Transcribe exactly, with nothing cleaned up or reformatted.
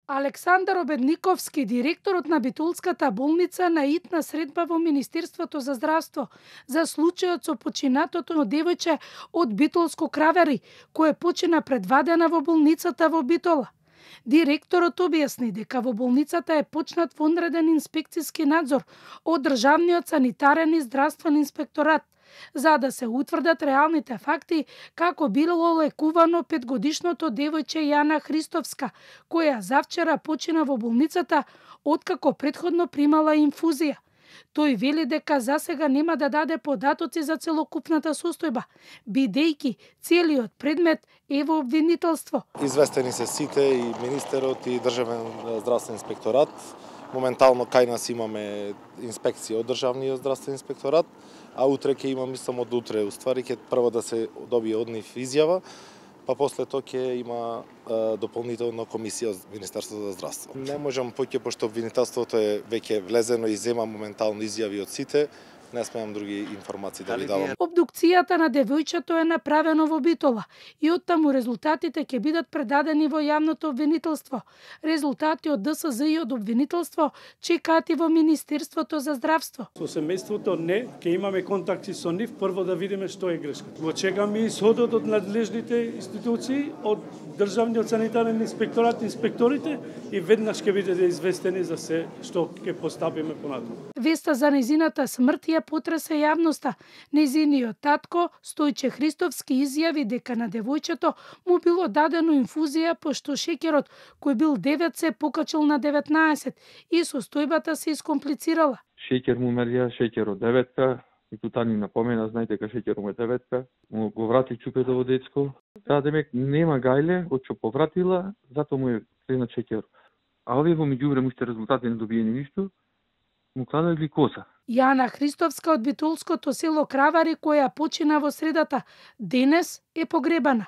Александар Обедниковски, директорот на Битолската болница, на итна средба во Министерството за здравство за случајот со починатото девојче од Битолско Кравари, кое почина предвадена во болницата во Битола. Директорот објасни дека во болницата е почнат вонреден инспекцијски надзор од Државниот санитарен и здравствен инспекторат, за да се утврдат реалните факти како било лекувано петгодишното девојче Јана Христовска, која завчера почина во болницата откако претходно примала инфузија. Тој вели дека засега нема да даде податоци за целокупната состојба, бидејќи целиот предмет е во обвинителство. Известени се сите, и министерот и Државен здравствен инспекторат. Моментално кај нас имаме инспекција од Државниот здравствен инспекторат, а утре ќе имаме само од утре, уствари ќе прво да се добие од нив изјава, па после тоа ќе има е, дополнителна комисија од Министерството за здравство. Не можам поќе, пошто обвинителството е веќе влезено и зема моментално изјави од сите, не смеам други информации да ви давам. Обдукцијата на девојчето е направено во Битола и оттаму резултатите ќе бидат предадени во јавното обвинителство. Резултати од ДСЗ и од обвинителство чекаат и во Министерството за здравство. Со семејството не, ќе имаме контакти со нив, прво да видиме што е грешка. Го чекаме и исходот од надлежните институции, од Државниот санитарен инспекторат, инспекторите, и веднаш ќе бидете известени за се што ќе постапиме понатаму. Веста за незината смрт ја потресе јавноста. Незиниот татко, Стојче Христовски, изјави дека на девојчето му било дадено инфузија пошто шеќерот, кој бил девет, се покачил на деветнаесет и состојбата се искомплицирала. Шеќер му мерија, шеќер од деветка, и тута ни напомена, знаете дека шеќер му е деветка, му го врати чупето во детско. Таа демек нема гајле, од што повратила, затоа му е кренат шеќер. А овие во меѓувреме уште резултати не добиени ништо, му кладат гликоза. Јана Христовска од Битолското село Кравари, која почина во средата, денес е погребана.